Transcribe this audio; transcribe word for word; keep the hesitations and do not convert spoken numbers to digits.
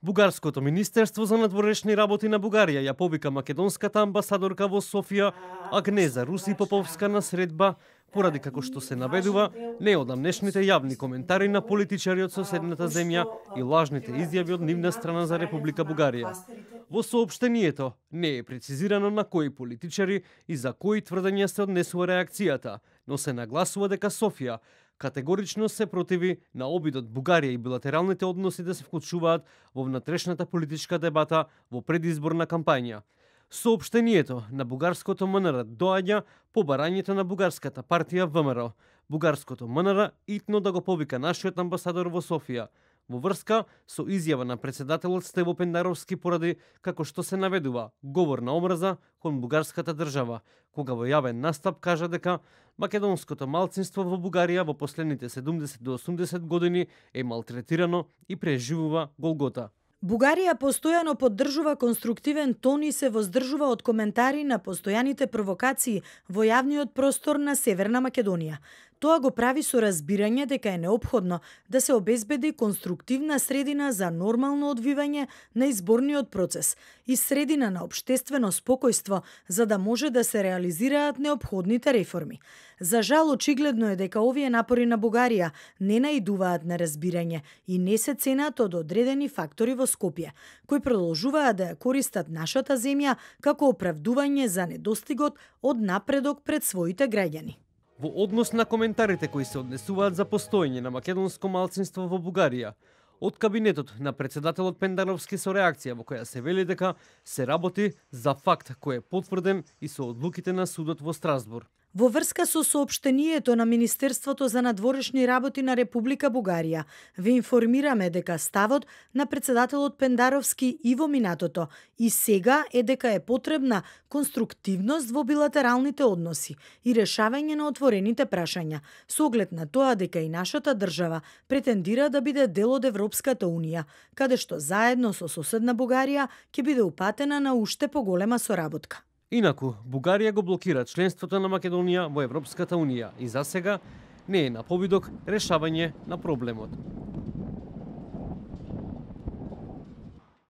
Бугарското Министерство за надворешни работи на Бугарија ја повика македонската амбасадорка во Софија Агнеза Руси Поповска на средба, поради како што се наведува неодамнешните јавни коментари на политичари од соседната земја и лажните изјави од нивна страна за Република Бугарија. Во соопштението не е прецизирано на кои политичари и за кои тврдења се однесува реакцијата, но се нагласува дека Софија категорично се противи на обидот Бугарија и билатералните односи да се вклучуваат во внатрешната политичка дебата во предизборна кампања. Соопштението на бугарското МНР доаѓа по барањето на бугарската партија ВМРО. Бугарското МНР итно да го повика нашиот амбасадор во Софија, во врска со изјава на председателот Стево Пендаровски поради како што се наведува говор на омраза кон бугарската држава, кога во јавен настап кажа дека македонското малцинство во Бугарија во последните седумдесет до осумдесет години е малтретирано и преживува голгота. Бугарија постојано поддржува конструктивен тон и се воздржува од коментари на постојаните провокации во јавниот простор на Северна Македонија. Тоа го прави со разбирање дека е неопходно да се обезбеди конструктивна средина за нормално одвивање на изборниот процес и средина на општествено спокојство за да може да се реализираат неопходните реформи. За жал, очигледно е дека овие напори на Бугарија не наидуваат на разбирање и не се ценат од одредени фактори во Скопје, кои продолжуваат да ја користат нашата земја како оправдување за недостигот од напредок пред своите граѓани. Во однос на коментарите кои се однесуваат за постоење на македонско малцинство во Бугарија, од кабинетот на председателот Пендаровски со реакција во која се вели дека се работи за факт кој е потврден и со одлуките на судот во Страсбург. Во врска со соопштението на Министерството за надворешни работи на Република Бугарија, ве информираме дека ставот на председателот Пендаровски и во минатото и сега е дека е потребна конструктивност во билатералните односи и решавање на отворените прашања, со оглед на тоа дека и нашата држава претендира да биде дел од Европската унија, каде што заедно со соседна Бугарија ќе биде упатена на уште поголема соработка. Инаку, Бугарија го блокира членството на Македонија во Европската унија и засега не е на повидок решавање на проблемот.